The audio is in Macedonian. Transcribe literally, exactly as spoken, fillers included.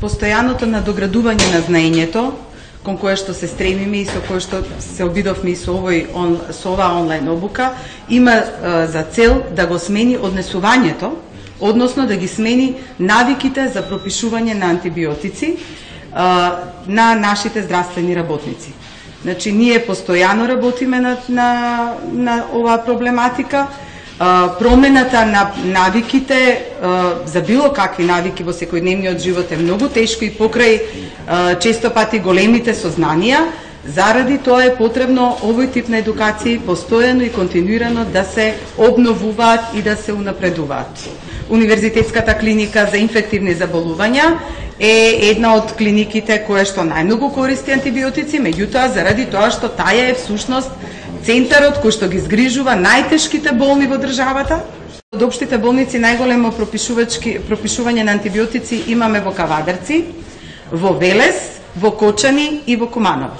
постојаното надоградување на знаењето, кон кое што се стремиме и со кое што се обидовме и со овој он, со оваа онлайн обука, има а, за цел да го смени однесувањето, односно да ги смени навиките за пропишување на антибиотици а, на нашите здравствени работници. Значи, ние постојано работиме на, на, на оваа проблематика. Uh, промената на навиките, uh, за било какви навики во секојдневниот живот е многу тешко и покрај uh, често пати големите сознанија. Заради тоа е потребно овој тип на едукација постојано и континуирано да се обновуваат и да се унапредуваат. Универзитетската клиника за инфективни заболувања е една од клиниките која што најмногу користи антибиотици, меѓутоа заради тоа што таа е всушност центарот кој што ги згрижува најтешките болни во државата. Од општите болници најголемо пропишување на антибиотици имаме во Кавадарци, во Велес, во Кочани и во Куманово.